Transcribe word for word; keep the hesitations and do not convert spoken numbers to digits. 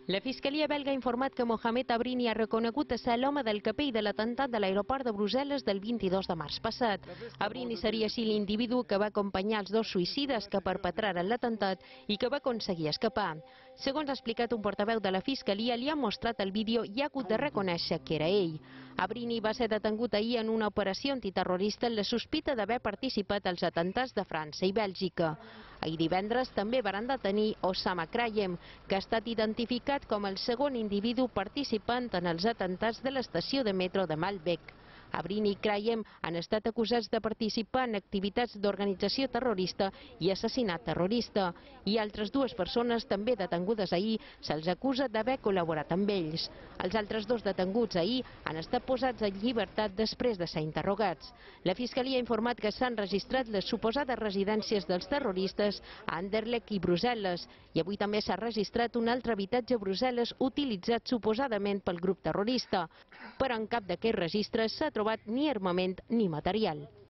La Fiscalia belga ha informat que Mohamed Abrini ha reconegut a ser l'home del capell de l'atemptat de l'aeroport de Brussel·les del vint-i-dos de març passat. Abrini seria així l'individu que va acompanyar els dos suïcides que perpetraren l'atemptat i que va aconseguir escapar. Segons ha explicat un portaveu de la Fiscalia, li ha mostrat el vídeo i ha hagut de reconèixer que era ell. Abrini va ser detengut ahir en una operació antiterrorista en la sospita d'haver participat als atemptats de França i Bèlgica. Ahir divendres també van detenir Osama Krayem, que ha estat identificat com el segon individu participant en els atemptats de l'estació de metro de Malbec. Abrini i Krayem han estat acusats de participar en activitats d'organització terrorista i assassinat terrorista, i altres dues persones també detengudes ahir se'ls acusa d'haver col·laborat amb ells. Els altres dos detenguts ahir han estat posats en llibertat després de ser interrogats. La Fiscalia ha informat que s'han registrat les suposades residències dels terroristes a Anderlecht i Brussel·les, i avui també s'ha registrat un altre habitatge a Brussel·les utilitzat suposadament pel grup terrorista, però en cap d'aquests registres s'ha trobat ni armament ni material.